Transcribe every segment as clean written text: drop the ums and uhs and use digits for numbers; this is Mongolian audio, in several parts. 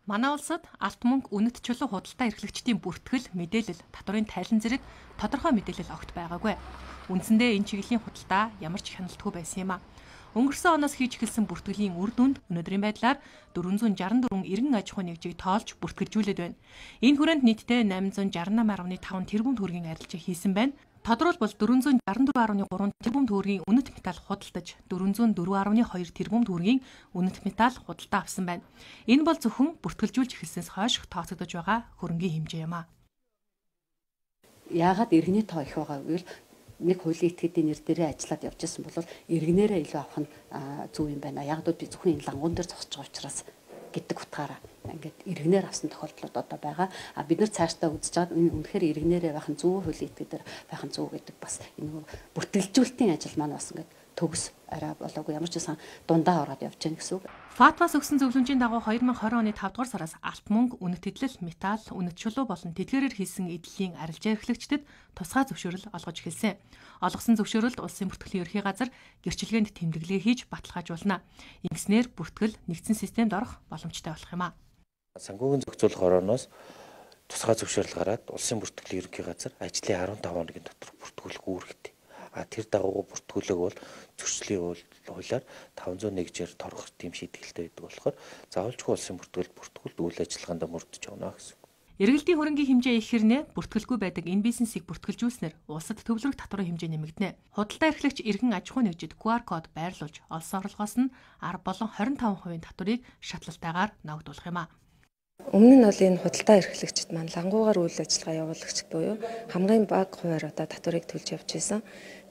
Манай улсад алт мөнгө үнэт чулуу худалдаа эрхлэгчдийн бүртгэл, мэдээлэл, татварын тайлан зэрэг тодорхой мэдээлэл огт байгаагүй. Үндсэндээ энэ чиглэлийн худалдаа ямар ч хяналтгүй байсан юм а. Өнгөрсөн оноос хийж эхэлсэн бүртгэлийн үр дүнд өнөөдрийн байдлаар 464 эргэн аж ахуй нэгжийг тоолж бүртгэлжүүлээд байна. Энэ хүрээнд нийтдээ 868.5 тэрбум төгрөгийн арилжаа хийсэн байна. Тодорхойлбол 464.3 тэрбум төгрөгийн үнэт металл худалдаж 404.2 тэрбум төгрөгийн үнэт металл худалдаа авсан байна. Энэ бол зөвхөн бүртгэлжүүлж эхэлсэнээс хойш тооцогдож байгаа хөрөнгийн хэмжээ юм а. Яагаад иргэний тоо их байгаа вэ? Нэг хуулийн этгээдийн нэр дээрээ ажиллаад явж байсан бол иргэнээрээ илүү авах нь зөв юм байна. Яг л би зөвхөн энэ лангуун дээр зогсож байгаа учраас гэдэг утгаараа ингээд иргэнээр авсан тохиолдлууд одоо байгаа. Бид нар цаашдаа үзэж байгаа энэ үнэхээр иргэнээрээ байх нь зөв хуулийн этгээдээр байх нь зөв гэдэг бас энэ бүртгэлжүүлэлтийн ажил маань бас ингээд төгс арай болоогүй ямар ч байсан дундаа ороод явж гэнэ гэсэн үг. ФАТФ-аас өгсөн зөвлөмжийн дагуу 2020 оны 5 дугаар сараас алт мөнгө, үнэт эдлэл, металл, үнэт чулуу болон тэтгэрээр хийсэн эдлийн арилжаа эрхлэгчдэд тусгай зөвшөөрөл олгож эхэлсэн. Олгосон зөвшөөрөлд улсын бүртгэлийн ерхий газар гэрчлэгээнд тэмдэглээ хийж баталгаажуулна. Ингэснээр бүртгэл нэгдсэн системд орох боломжтой болох юм а. Санхүүгийн зохицуулах орооноос тусгай зөвшөөрөл гараад улсын бүртгэлийн ерхий газар ажлын 15 хоногийн дотор бүртгүүлэх үүрэгтэй. Тэр дагуу бүртгүүлэг бол зөрчлийн хуулиар 501-ээр торгох тийм шийтгэлтэй байдаг болохоор заавалжгүй улсын бүртгүүлд үйл ажиллагаанд мөрдөж явна гэсэн. Эргэлтийн хөрөнгийн хэмжээ их хэрнээ бүртгэлгүй байдаг энэ бизнесийг бүртгэлжүүлснээр улсад төвлөрөх татварын хэмжээ нэмэгдэнэ. Худалдаа эрхлэгч эргэн аж ахуй нэгжид QR код байрлуулж олсон орлогоос нь 10 болон 25% татварыг шатлалтайгаар ногдуулах юм а. Өмнө нь бол энэ худалдаа эрхлэгчид маань лангуугаар үйл ажиллагаа явуулагч буюу хамгийн бага хувиар одоо татварыг төлж явж байсан.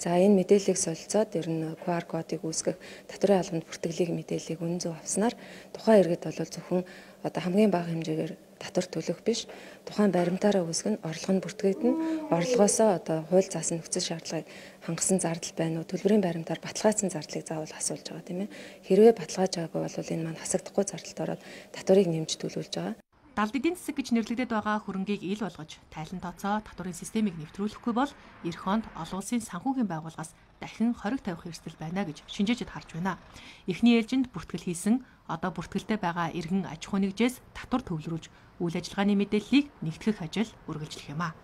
За энэ мэдээллийг солилцоод ер нь QR кодыг үүсгэх татварын албанд бүртгэлийг мэдээллийг үнэн зөв авснаар тухайн иргэд бол зөвхөн одоо хамгийн бага хэмжээгээр татвар төлөх биш тухайн баримтаараа үүсгэн орлого нь бүртгэгдэн орлогоосоо одоо хууль заасан нөхцөл шаардлагыг хангасан зардал байна уу төлбөрийн баримтаар баталгаажсан зардлыг заавал асуулж байгаа тийм ээ. Хэрвээ баталгааж байгаагүй бол энэ маань хасагдахгүй зардалд ороод татварыг нэмж төлөвлөж байгаа. Далд эдийн засаг гэж нэрлэгдээд байгаа хөрөнгийг ил болгож, тайлан тооцоо татварын системийг нэвтрүүлэхгүй бол эх хонд олон улсын санхүүгийн байгууллагаас дахин хориг тавих эрсдэл байна гэж шинжээчид харж байна. Эхний ээлжинд бүртгэл хийсэн, одоо бүртгэлтэй байгаа эргэн аж ахуй нэгжээс татвар төвлөрүүлж, үйл ажиллагааны мэдээллийг нэгтгэх ажил үргэлжлэх юм а.